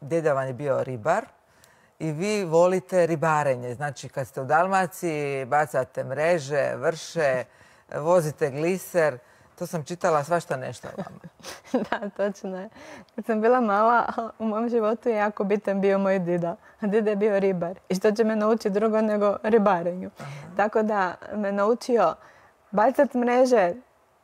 Djeda vam je bio ribar i vi volite ribarenje. Znači, kad ste u Dalmaciji, bacate mreže, vrše, vozite gliser. To sam čitala svašta nešto o vama.
Da, točno je. Kad sam bila mala, u mom životu je jako bitan bio moj dida. A dida je bio ribar. I što će me naučiti drugo nego ribarenju. Tako da me naučio bacat mreže,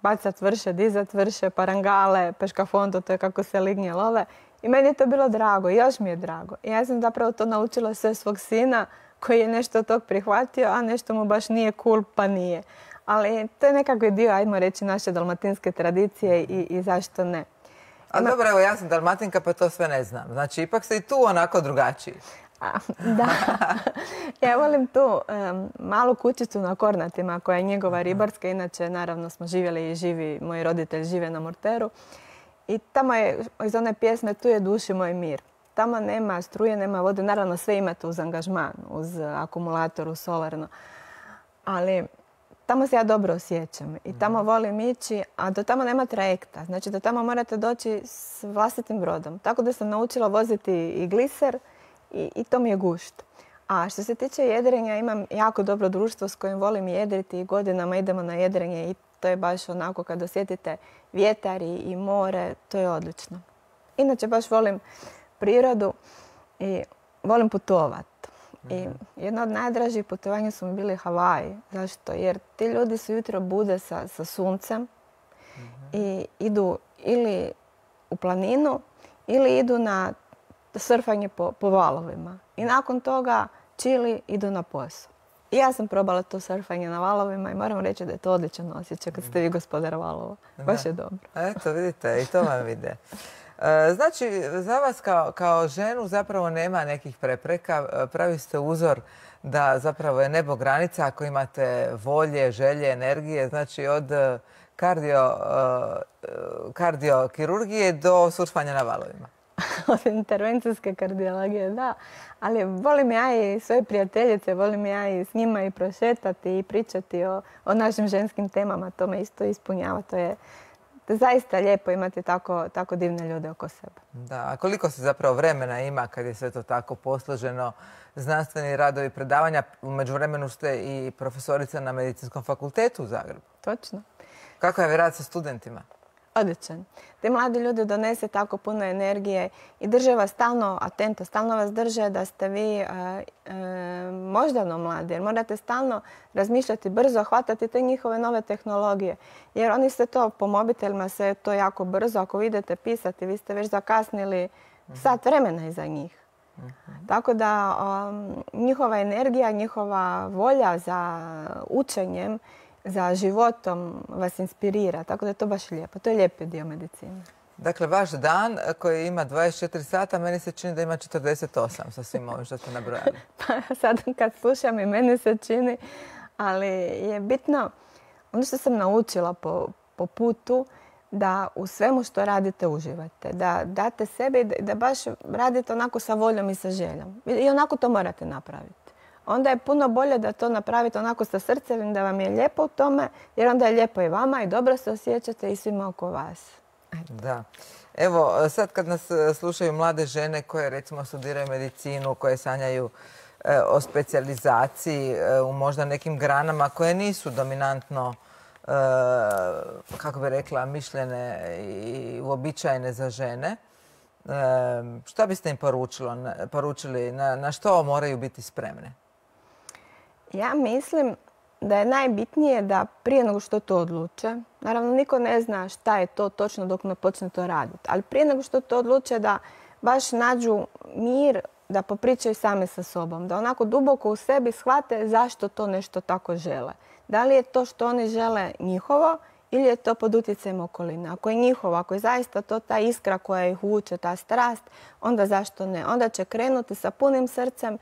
bacat vrše, dizat vrše, parangale, peškafondo, to je kako se lignje love. I I meni je to bilo drago, još mi je drago. I ja sam zapravo to naučila sve svog sina koji je nešto od tog prihvatio, a nešto mu baš nije cool, pa nije. Ali to je nekakvi dio, ajmo reći, naše dalmatinske tradicije i zašto ne.
A dobro, evo ja sam Dalmatinka pa to sve ne znam. Znači, ipak ste i tu onako drugačiji.
Da. Ja volim tu malu kućicu na Kornatima koja je njegova ribarska. Inače, naravno, smo živjeli i živi, moji roditelji žive na Murteru. I tamo je, iz one pjesme, tu je duši moj mir. Tamo nema struje, nema vode. Naravno, sve imate uz angažman, uz akumulator, uz solarno. Ali tamo se ja dobro osjećam i tamo volim ići, a do tamo nema trajekta. Znači, do tamo morate doći s vlastitim brodom. Tako da sam naučila voziti i gliser i to mi je gušt. A što se tiče jedrenja, imam jako dobro društvo s kojim volim jedriti i godinama idemo na jedrenje i to je baš onako kad osjetite vjetar i more, to je odlično. Inače, baš volim prirodu i volim putovati. I jedno od najdražih putovanja su mi bili Havaji. Zašto? Jer ti ljudi se jutro bude sa suncem i idu ili u planinu ili idu na surfanje po valovima. I nakon toga čili idu na posao. I ja sam probala to surfanje na valovima i moram reći da je to odličan osjećaj kad ste vi gospodar valova. Baš je dobro.
Eto, vidite, i to vam ide. Znači, za vas kao ženu zapravo nema nekih prepreka. Pravi ste uzor da zapravo je nebo granica ako imate volje, želje, energije. Znači, od kardiokirurgije do surfanja na valovima.
Od intervencijske kardiologije, da. Ali volim ja i svoje prijateljice, volim ja i s njima i prošetati i pričati o našim ženskim temama. To me isto ispunjava. To je zaista lijepo imati tako divne ljude oko sebe.
Da, a koliko se zapravo vremena ima kad je sve to tako posloženo, znanstveni radovi, predavanja? U međuvremenu ste i profesorica na Medicinskom fakultetu u Zagrebu.
Točno.
Kako je rad sa studentima?
Odličan. Te mladi ljudi donese tako puno energije i drže vas stalno atento, stalno vas drže da ste vi moždano mladi, jer morate stalno razmišljati brzo, hvatati te njihove nove tehnologije. Jer oni se to po mobitelima, se to jako brzo, ako vi idete pisati, vi ste već zakasnili sat vremena iza njih. Tako da njihova energija, njihova volja za učenjem, za životom vas inspirira, tako da je to baš lijepo. To je lijepi dio medicine.
Dakle, vaš dan koji ima 24 sata, meni se čini da ima 48 sa svim ovim što ste nabrojali.
Pa sad kad slušam i meni se čini, ali je bitno, ono što sam naučila po putu, da u svemu što radite uživate, da date sebe i da baš radite onako sa voljom i sa željom. I onako to morate napraviti. Onda je puno bolje da to napravite onako sa srcem, da vam je lijepo u tome, jer onda je lijepo i vama i dobro se osjećate i svima oko vas.
Da. Evo, sad kad nas slušaju mlade žene koje recimo studiraju medicinu, koje sanjaju o specijalizaciji u možda nekim granama koje nisu dominantno, kako bi rekla, mišljene i uobičajene za žene, što biste im poručili, na što moraju biti spremne?
Ja mislim da je najbitnije da prije nego što to odluče, naravno niko ne zna šta je to točno dok ne počne to raditi, ali prije nego što to odluče da baš nađu mir, da popričaju same sa sobom, da onako duboko u sebi shvate zašto to nešto tako žele. Da li je to što oni žele njihovo ili je to pod utjecajem okoline. Ako je njihovo, ako je zaista to ta iskra koja ih vuče, ta strast, onda zašto ne? Onda će krenuti sa punim srcem,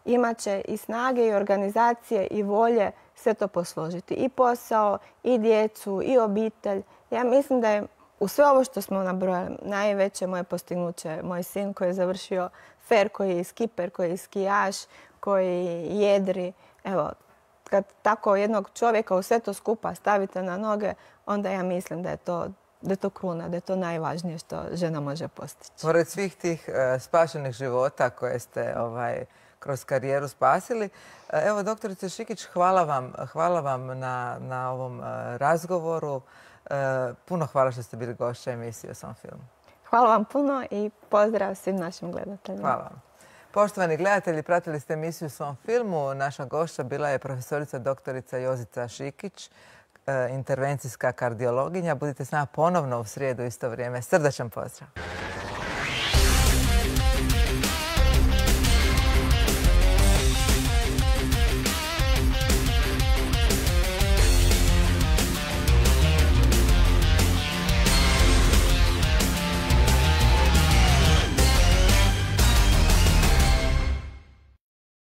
imat će i snage i organizacije i volje sve to posložiti. I posao, i djecu, i obitelj. Ja mislim da je u sve ovo što smo nabrojali najveće moje postignuće moj sin koji je završio FER, koji je skiper, koji je skijaš, koji jedri. Evo, kad tako jednog čovjeka u sve to skupa stavite na noge, onda ja mislim da je to kruna, da je to najvažnije što žena može postići.
Pored svih tih spašenih života koje ste kroz karijeru spasili. Evo, doktorice Šikić, hvala vam na ovom razgovoru. Puno hvala što ste bili gošća emisije o svom filmu.
Hvala vam puno i pozdrav svim našim gledateljima.
Hvala vam. Poštovani gledatelji, pratili ste emisiju o svom filmu. Naša gošća bila je profesorica doktorica Jozica Šikić, intervencijska kardiologinja. Budite s nama ponovno u srijedu isto vrijeme. Srdačan pozdrav.